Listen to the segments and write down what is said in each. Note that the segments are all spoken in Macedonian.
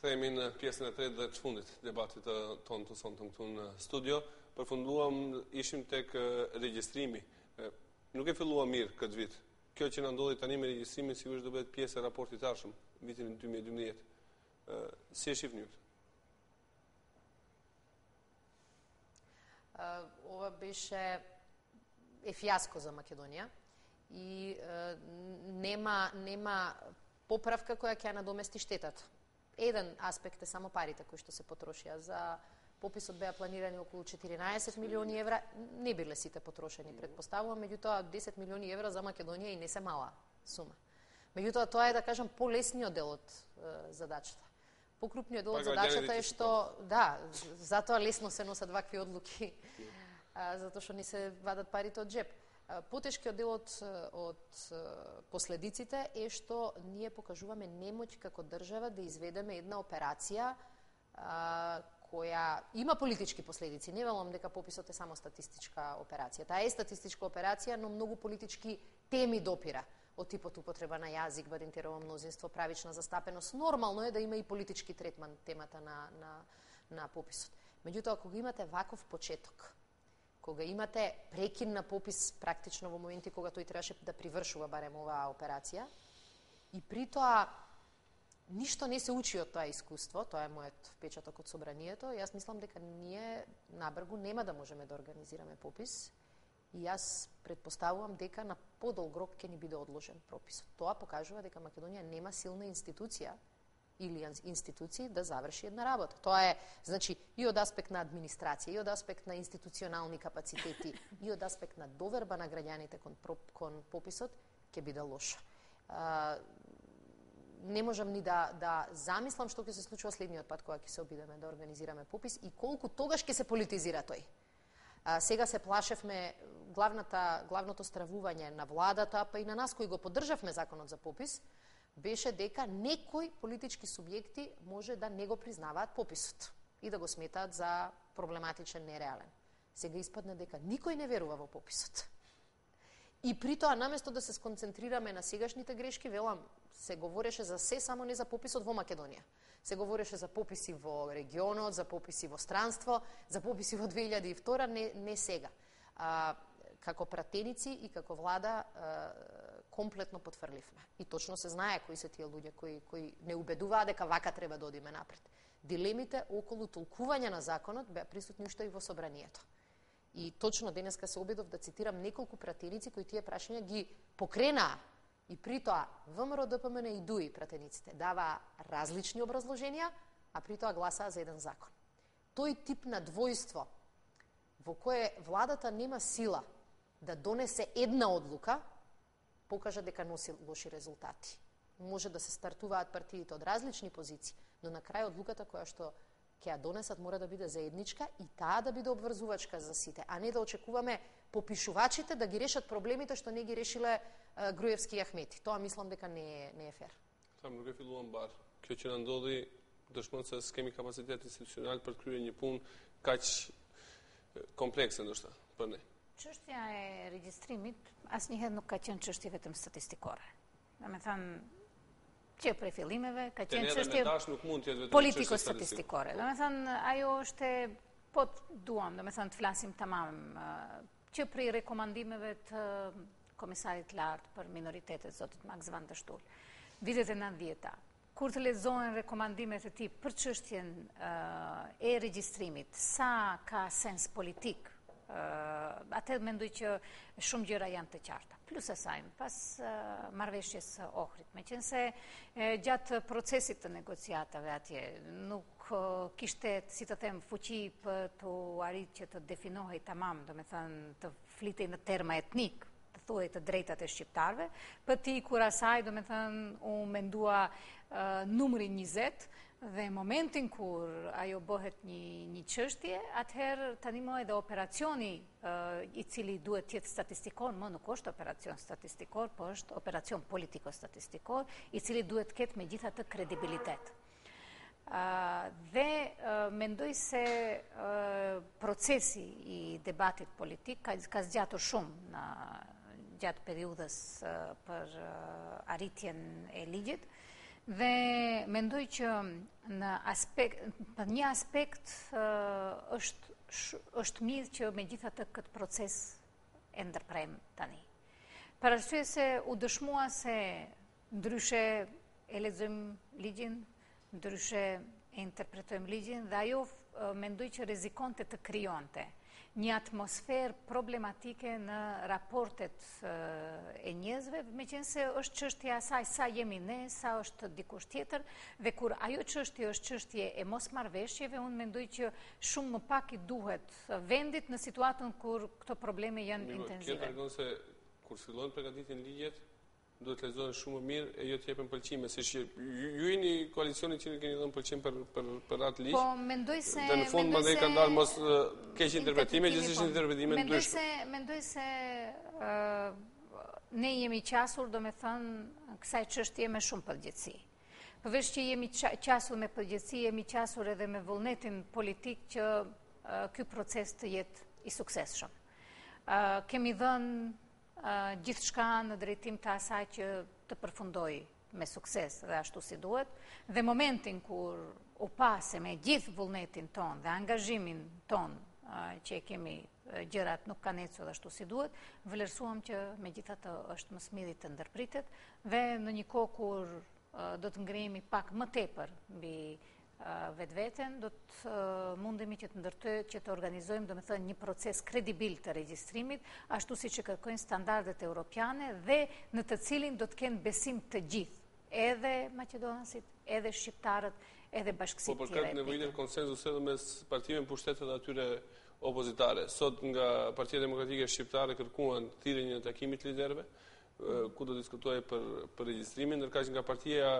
Kthehemi në pjesën e tretë dhe të fundit debatit tonë të sonte këtu në studio. Përfunduam, ishim tek regjistrimi. Nuk e filluam mirë këtë vit. Kjo që na ndodhi tani me regjistrimin sigurisht do bëhet pjesë e raportit të ardhshëm, vitin 2012. Si e shihni ju? Ова беше фијаско за Македонија и нема поправка која ќе надомести штетата. Еден аспект е само парите кои што се потрошија. За пописот беа планирани околу 14 милиони евра, не биле сите потрошени, предпоставувам, меѓутоа 10 милиони евра за Македонија и не се мала сума. Меѓутоа тоа е, да кажам, полесниот дел од задачата. Покрупниот дел од задачата е што, да, затоа лесно се носат вакви одлуки, затоа што ни се вадат парите од джеп. Потешкиот дел од последиците е што ние покажуваме немоќ како држава да изведеме една операција која има политички последици. Не велам дека пописот е само статистичка операција. Таа е статистичка операција, но многу политички теми допира. Од типот употреба на јазик, барентерово мнозинство, правична застапеност. Нормално е да има и политички третман темата на пописот. Меѓутоа, кога имате ваков почеток, кога имате прекин на попис практично во моменти кога тој требаше да привршува барем оваа операција, и при тоа ништо не се учи од тоа искуство, тоа е мојот впечаток од собранието, јас мислам дека ние набргу нема да можеме да организираме попис, и јас предпоставувам дека на подолг рок ќе ни биде одложен прописот. Тоа покажува дека Македонија нема силна институција или институции да заврши една работа. Тоа е, значи, и од аспект на администрација, и од аспект на институционални капацитети, и од аспект на доверба на граѓаните кон пописот, ќе биде лошо. Не можам ни да замислам што ќе се случува следниот пат кога ќе се обидеме да организираме попис и колку тогаш ќе се политизира тој. Сега се плашевме, главното стравување на владата, па и на нас кои го поддржавме законот за попис, беше дека некои политички субјекти може да не го признаваат пописот и да го сметаат за проблематичен, нереален. Сега испадне дека никој не верува во пописот. И при тоа, наместо да се сконцентрираме на сегашните грешки, велам, се говореше за се, само не за пописот во Македонија. Се говореше за пописи во регионот, за пописи во странство, за пописи во 2002, не сега. Како пратеници и како влада комплетно потфрливме. И точно се знае кои се тие луѓе кои не убедуваат дека вака треба да одиме напред. Дилемите околу толкување на законот беа присутни уште и во собранието. И точно денеска се обидов да цитирам неколку пратеници кои тие прашања ги покренаа. И при тоа ВМРО, ДПМН и ДУИ пратениците даваа различни образложенија, а при тоа гласаа за еден закон. Тој тип на двојство во кое владата нема сила да донесе една одлука, покажа дека носи лоши резултати. Може да се стартуваат партиите од различни позиции, но на крај одлуката која што ќе ја донесат мора да биде заедничка и таа да биде обврзувачка за сите, а не да очекуваме попишувачите да ги решат проблемите што не ги решиле Груевски и Ахмети. Тоа мислам дека не е фер. Таму nuk e filluam bar. Kjo që na ndodhi dëshmon se s'kemi kapacitet institucional për të kryer një punë kaq komplekse ndoshta për ne. Çështja e regjistrimit asnjëherë nuk ka qenë çështje vetëm statistikore. Domethënë që prej fillimeve ka qenë çështje politiko-statistikore. Domethënë ajo është po duam, domethënë të flasim tamam që prej rekomandimeve të Komisarit lartë për minoritetet, zotit Max van der Stoel, vitet e 90-ta, kur të lexohen rekomandimet e tij për çështjen e regjistrimit, sa ka sens politik, atëherë mendoj që shumë gjëra janë të qarta. Plus asaj, pas marrëveshjes së Ohrit, meqense gjatë procesit të negociatave atje nuk kishte, si të them, fuqi për të arritur që të definohej tamam, domethënë të flitej në terma etnik, të thuaj të drejtat e shqiptarëve, për ti kur asaj, domethënë, u mendua numri 20, dhe momentin kur ajo bëhet një çështje, atëherë tani më edhe operacioni i cili duhet të jetë statistikor, më nuk është operacion statistikor, po është operacion politiko-statistikor, i cili duhet të ketë megjithatë kredibilitet. Dhe mendoj se procesi i debatit politik ka zgjatur shumë gjatë periudhës për arritjen e ligjit, Dhe mendoj që në një aspekt është mirë që megjithatë këtë proces e ndërprem tani. Për arsye se u dëshmua se ndryshe e lexojmë ligjin, ndryshe e interpretojmë ligjin dhe ajo mendoj që rrezikonte të krijonte një atmosferë problematike në raportet e njerëzve, meqense është çështja e asaj sa jemi ne, sa është dikush tjetër, dhe kur ajo çështje është çështje e mosmarrveshjeve, unë mendoj që shumë më pak I duhet vendit në situatën kur këto probleme janë intensive. Kjo tregon se kur fillojnë përgatitjen ligjet, duhet lexohen shumë më mirë e jo të jepen pëlqime, siç ju jeni koalicioni që keni dhënë pëlqim për atë ligj. Po mendoj se në fund mandej kanë dalë mos keq interpretime, gjithsesi interpretime ndryshme. Mendoj se ne jemi qasur, domethënë, kësaj çështje me shumë përgjegjësi. Përveç që jemi qasur me përgjegjësi, jemi qasur edhe me vullnetin politik që ky proces të jetë I suksesshëm. Kemi dhënë gjithë shka në drejtim të asaj që të përfundoj me sukses dhe ashtu si duhet, dhe momentin kur u pase me gjithë vullnetin ton dhe angazhimin ton që kemi gjërat nuk kanë ecur ashtu si duhet, vlerësuam që megjithatë është më smiri të ndërpritet dhe në një kohë kur do të ngrihemi pak më tepër mbi vetveten, do të mundemi që të organizojmë, domethënë, një proces kredibil të regjistrimit, ashtu siç e kërkojnë standardet europiane dhe në të cilin do të kenë besim të gjithë, edhe maqedonasit, edhe shqiptarët, edhe bashkësitë tjera. Po për këtë nevojitet konsenzus edhe mes partive në pushtetet atyre opozitare. Sot nga Partia Demokratike Shqiptare kërkuan thirrjen e takimit liderëve, ku do diskutohej për regjistrimin, ndërkaq nga Partia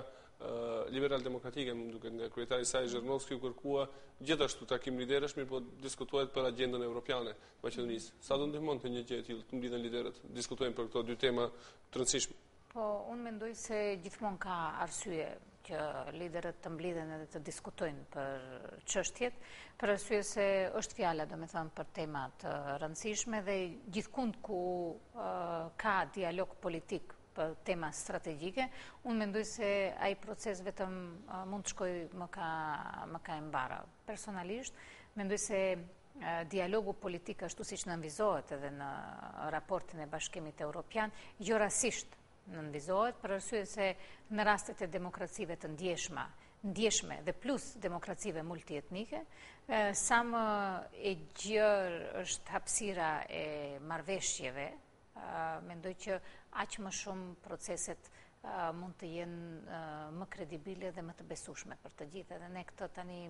Liberal Demokratike, më duket nga kryetari I saj Zhernovski u kërkua gjithashtu takim liderësh, mirë po diskutohet për agjendën evropiane të Maqedonisë. Sa do ndihmon të një gjë e tillë të mblidhen liderët, diskutojnë për këto dy tema të rëndësishme? Po, unë mendoj se gjithmonë ka arsye që liderët të mblidhen edhe të diskutojnë për çështjet, për arsye se është fjala, domethënë, për tema të rëndësishme dhe gjithkund ku ka dialog politik për tema strategjike, unë mendoj se ai proces vetëm mund të shkojë më ka e mbara. Personalisht, mendoj se dialogu politik ashtu siç nënvizohet edhe në raportin e Bashkimit Evropian, jo rastisht nënvizohet, për arsye se në rastet e demokracive të ndjeshme dhe plus demokracive multietnike, sa më e gjerë është hapësira e marrëveshjeve, mendoj që aq më shumë proceset mund të jenë më kredibile dhe më të besueshme për të gjithë. Edhe ne këtë tani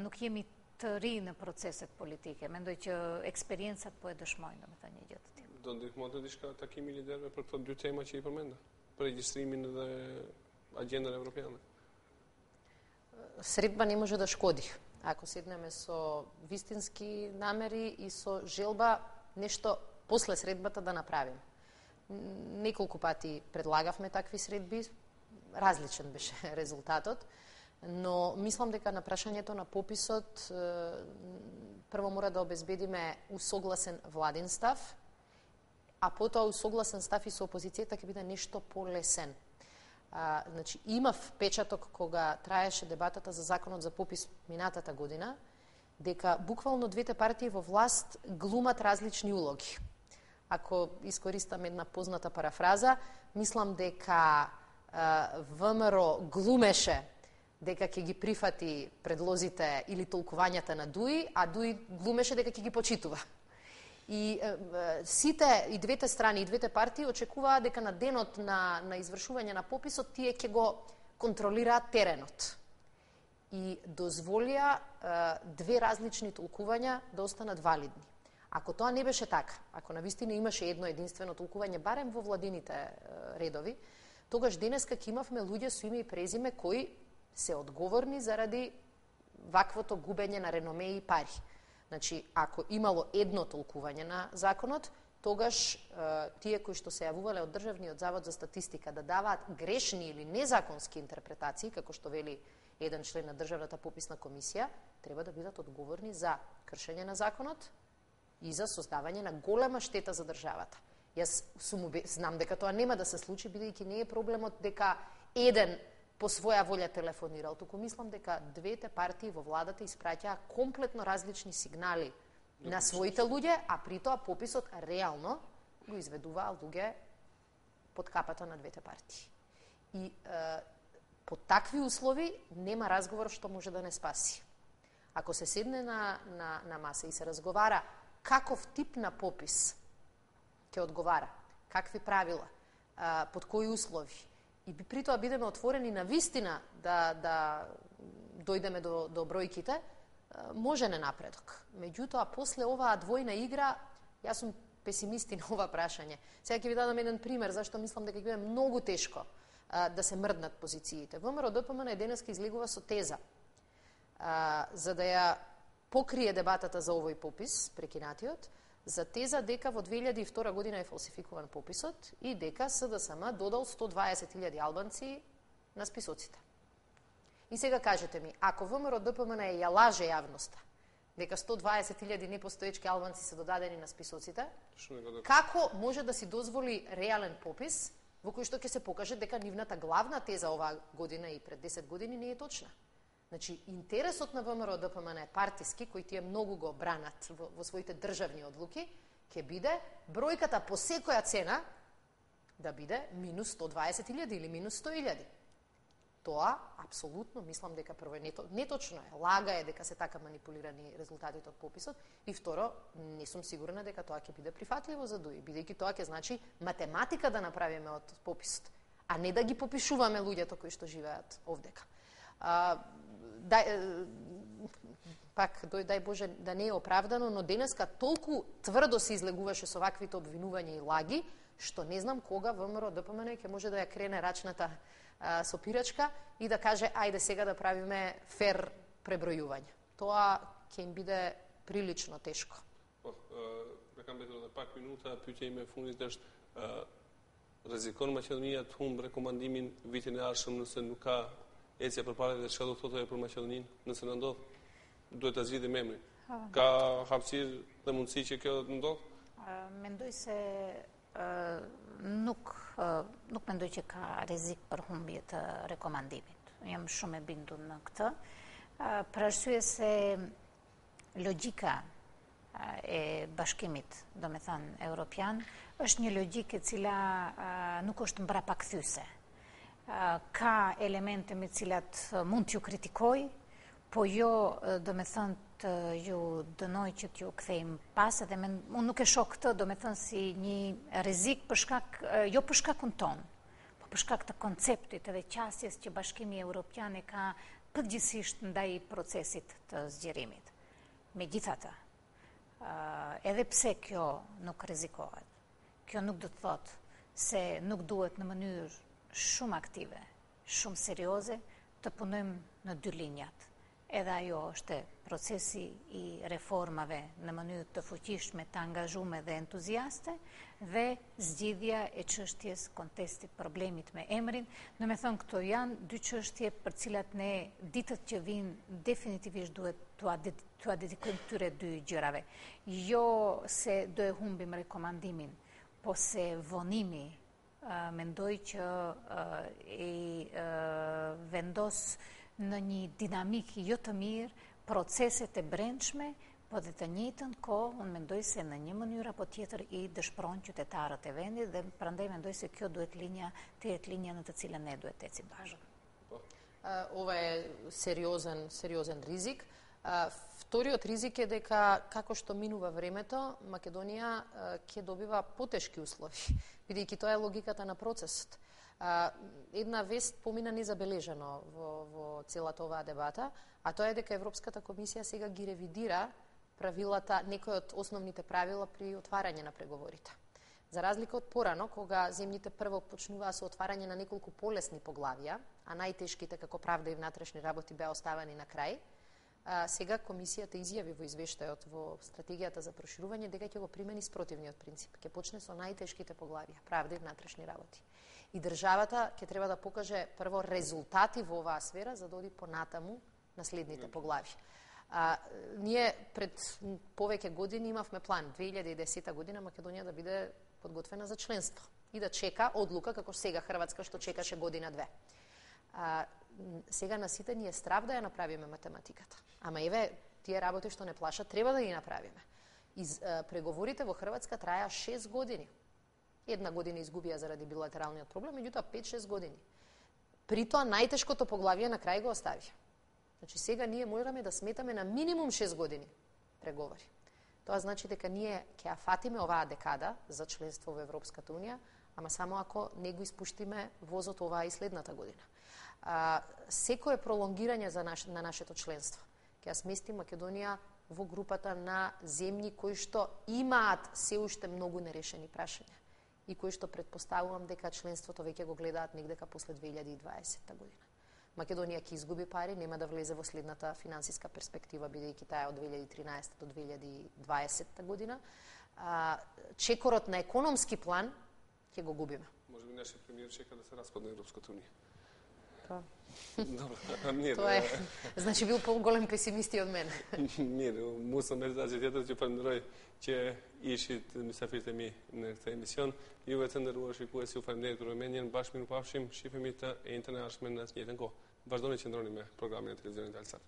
nuk jemi të ri në proceset politike. Mendoj që eksperiencat po e dëshmojnë, domethënë, një gjë të tillë. Do ndihmonte diçka takimi liderëve për këto dy tema që I përmenda, për regjistrimin dhe agjendën evropiane? Средба не може да шкоди. Ако седнеме со вистински намери и со желба нешто после средбата да направим. Неколку пати предлагавме такви средби, различен беше резултатот, но мислам дека на прашањето на пописот прво мора да обезбедиме усогласен владин став, а потоа усогласен став и со опозицијата ќе биде нешто полесен. Значи, имав печаток кога траеше дебатата за законот за попис минатата година, дека буквално двете партии во власт глумат различни улоги. Ако искористам една позната парафраза, мислам дека ВМРО глумеше дека ќе ги прифати предлозите или толкувањата на ДУИ, а ДУИ глумеше дека ќе ги почитува. И сите, и двете страни, и двете партии очекуваа дека на денот на извршување на пописот тие ќе го контролираат теренот. И дозволија две различни толкувања да останат валидни. Ако тоа не беше така, ако навистина имаше едно единствено толкување, барем во владините редови, тогаш денеска ќе имавме луѓе со име и презиме кои се одговорни заради ваквото губење на реноме и пари. Значи, ако имало едно толкување на законот, тогаш тие кои што се јавувале од Државниот завод за статистика да даваат грешни или незаконски интерпретации, како што вели еден член на Државната пописна комисија, треба да бидат одговорни за кршење на законот и за создавање на голема штета за државата. Јас знам дека тоа нема да се случи, бидејќи не е проблемот дека еден по своја волја телефонирал, туку мислам дека двете партии во владата испраќаа комплетно различни сигнали на своите луѓе, а при тоа пописот реално го изведуваа луѓе под капата на двете партии. И под такви услови нема разговор што може да не спаси. Ако се седне на маса и се разговара каков тип на попис ќе одговара, какви правила, под кои услови, и при тоа бидеме отворени на вистина да дојдеме до бројките, може не напредок. Меѓутоа, после оваа двојна игра, јас сум песимисти на ова прашање. Сега ќе ви дадам еден пример зашто мислам дека ќе биде многу тешко да се мрднат позициите. ВМРО-ДПМН денеска излегува со теза за да ја покрие дебатата за овој попис, прекинатиот, за теза дека во 2002 година е фалсификуван пописот и дека СДСМ додал 120.000 албанци на списоците. И сега кажете ми, ако ВМРО-ДПМН ја лаже јавноста дека 120.000 непостоечки албанци се додадени на списоците, како може да си дозволи реален попис во кој што ќе се покаже дека нивната главна теза оваа година и пред 10 години не е точна? Значи, интересот на ВМРО-ДПМН е партиски, кои тие многу го бранат во своите државни одлуки, ќе биде бројката по секоја цена да биде минус 120.000 или минус 100.000. Тоа, апсолутно, мислам дека прво е неточно е. Лага е дека се така манипулирани резултатите од пописот. И второ, не сум сигурна дека тоа ќе биде прифатливо за ДОИ, бидејќи тоа ќе значи математика да направиме од пописот, а не да ги попишуваме луѓето кои што живеат овдека. Дај Боже да не е оправдано, но денеска толку тврдо се излегуваше со ваквите обвинувања и лаги, што не знам кога ВМРО-ДПМН ќе може да ја крене рачната сопирачка и да каже ајде сега да правиме фер пребројување. Тоа ќе им биде прилично тешко. Kam betur edhe pak minuta, pyetja ime e fundit është rrezikon Maqedonia të humbë rekomandimin vitin e ardhshëm nëse nuk ka ecje përpara dhe çka do thotë për Maqedoninë nëse na ndodh? Duhet ta zgjidhim emrin. Ka hapësirë dhe mundësi që kjo të ndodh? Mendoj se nuk mendoj që ka rrezik për humbje të rekomandimit. Jam shumë e bindur në këtë, për arsye se logjika e bashkimit, do me thënë, europian, është një logjikë e cila nuk është mbrapakthyese. Ka elemente me cilat mund t'ju kritikoj, po jo, do me thënë, të ju dënoj që t'ju kthejmë pas, edhe unë nuk e shoh këtë, do me thënë, si një rrezik jo për shkakun ton, po për shkak të konceptit edhe qasjes që Bashkimi Evropian e ka përgjithsisht ndaj procesit të zgjerimit. Megjithatë, edhe pse kjo nuk rrezikohet, kjo nuk do të thotë se nuk duhet në mënyrë shumë aktive, shumë serioze, të punojmë në dy linjat. Edhe ajo është procesi i reformave në mënyrë të fuqishme, të angazhume dhe entuziaste, dhe zgjidhja e çështjes kontestit problemit me emrin. Në me thënë, këto janë dy çështje për cilat ne ditët që vinë definitivisht duhet t'ua dedikojmë këtyre dy gjërave. Jo se do e humbim rekomandimin, po se vonimi mendoj që i vendos në një dinamik jo të mirë proceset e brendshme, po dhe të njëjtën kohë, unë mendoj se në një mënyrë apo tjetër i dëshpëron qytetarët e vendit dhe prandaj mendoj se kjo duhet të jetë linja në të cilën ne duhet të ecim bashkë. Ова е сериозен ризик. Вториот ризик е дека како што минува времето, Македонија ќе добива потешки услови, бидејќи тоа е логиката на процесот. Една вест помина незабележано во целата оваа дебата, а тоа е дека Европската комисија сега ги ревидира правилата, некои од основните правила при отварање на преговорите. За разлика од порано, кога земјите прво почнуваа со отварање на неколку полесни поглавија, а најтешките како правда и внатрешни работи беа оставени на крај, сега комисијата изјави во извештајот во стратегијата за проширување дека ќе го примени спротивниот принцип. Ќе почне со најтешките поглавија, правда и внатрешни работи. И државата ќе треба да покаже прво резултати во оваа сфера за да оди понатаму на следните поглави. Ние пред повеќе години имавме план 2010 година Македонија да биде подготвена за членство и да чека одлука како сега Хрватска што чекаше година-две. Сега на сите ни е страв да ја направиме математиката. Ама еве, тие работи што не плашат, треба да ги направиме. Преговорите во Хрватска траја 6 години. 1 година изгубија заради билатералниот проблем, меѓутоа 5-6 години. При тоа најтешкото поглавие на крај го остави. Значи сега ние можеме да сметаме на минимум 6 години преговори. Тоа значи дека ние ќе ја фатиме оваа декада за членство во Европската унија, ама само ако не го испуштиме возот оваа и следната година. Секое пролонгирање на нашето членство ќе ја смести Македонија во групата на земји кои што имаат се уште многу нерешени прашања и кои што предпоставувам дека членството веќе го гледаат негдека после 2020 година. Македонија ќе изгуби пари, нема да влезе во следната финансиска перспектива, бидејќи таа од 2013 до 2020 година. Чекорот на економски план ќе го губиме. Може би нашиот премиер чека да се распадне Европската унија. Добро, тоа е. Значи бил поголем песимист од мене. Mirë, mu së mesazhi tjetër që falenderoj që ishit mysafirët e mi në këtë emision. Juve të nderuar shikuesi, ju falenderoj për vëmendjen. Bashkë miru pafshim, shihemi të e njëjtën e ardhshme në të njëjtën kohë. Vazhdoni që ndroni me programin e televizionit Alsat.